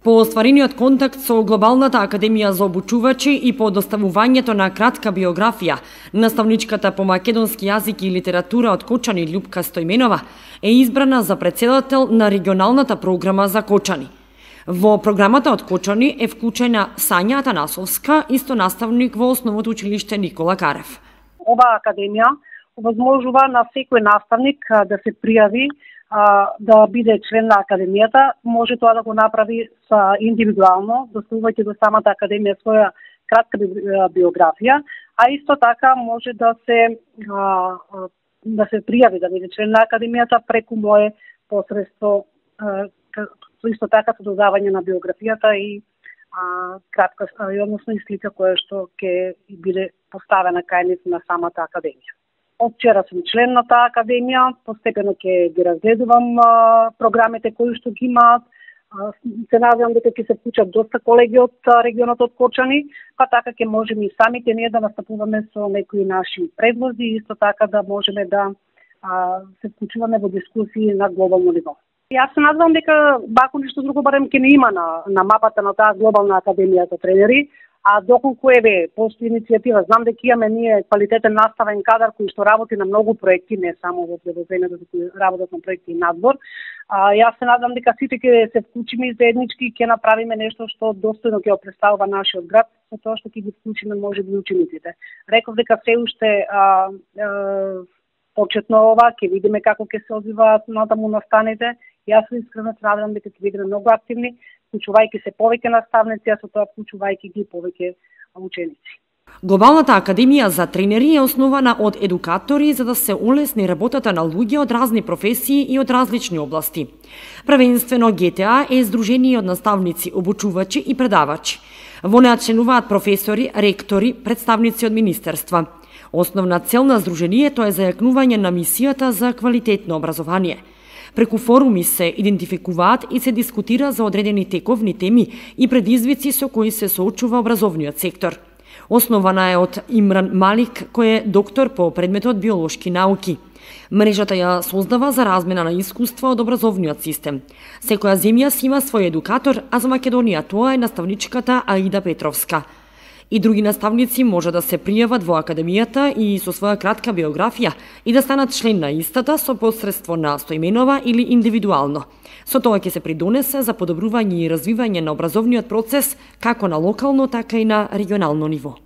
По остварениот контакт со Глобалната академија за обучувачи и по доставувањето на кратка биографија, наставничката по македонски јазик и литература од Кочани Љупка Стојменова е избрана за претседател на регионалната програма за Кочани. Во програмата од Кочани е вклучена Сања Атанасовска, исто наставник во Основното училиште Никола Карев. Оваа академија овозможува на секој наставник да се пријави да биде член на академијата. Може тоа да го направи индивидуално, доставувајќи до самата академија своја кратка биографија, а исто така може да се пријави да биде член на академијата преку мое посредство, исто така со додавање на биографијата и кратка, односно и слика која што ќе биде поставена кај нив на самата академија. Од вчера сум член на таа академија, постепено ќе ги разгледувам програмите кои што ги имаат. Се надевам дека ќе се вклучат доста колеги од регионот од Кочани, па така ќе можеме и самите ние да настапуваме со некои наши предлози и исто така да можеме да се вклучуваме во дискусии на глобално ниво. Јас се надевам дека бако ништо друго барем ќе не има на мапата на таа глобална академија за тренери, а доколку постои иницијатива, знам дека имаме ние квалитетен наставен кадар кој што работи на многу проекти, не само во предоземјето, кои работат на проекти и надбор. Јас се надам дека сите ќе се вклучиме и заеднички и ќе направиме нешто што достојно ќе представува нашиот град, со тоа што ќе ги вклучиме можеби учениците. Реков дека се уште почетно ова, ќе видиме како ќе се одвиваат натаму настаните. Јас искрено се надевам дека ќе бидеме многу активни, вклучувајќи се повеќе наставници, а со тоа вклучувајќи ги повеќе ученици. Глобалната академија за тренери е основана од едукатори за да се улесни работата на луѓе од разни професии и од различни области. Првенствено ГТА е здружение од наставници, обучувачи и предавачи. Во неа членуваат професори, ректори, представници од министерства. Основна цел на здружението е зајакнување на мисијата за квалитетно образование. Преку форуми се идентификуваат и се дискутира за одредени тековни теми и предизвици со кои се соочува образовниот сектор. Основана е од Имран Малик, кој е доктор по предметот биолошки науки. Мрежата ја создава за размена на искуства од образовниот систем. Секоја земја си има свој едукатор, а за Македонија тоа е наставничката Аида Петровска. И други наставници може да се пријават во академијата и со своја кратка биографија и да станат член на истата со посредство на Стојменова или индивидуално. Со тоа ќе се придонесе за подобрување и развивање на образовниот процес како на локално, така и на регионално ниво.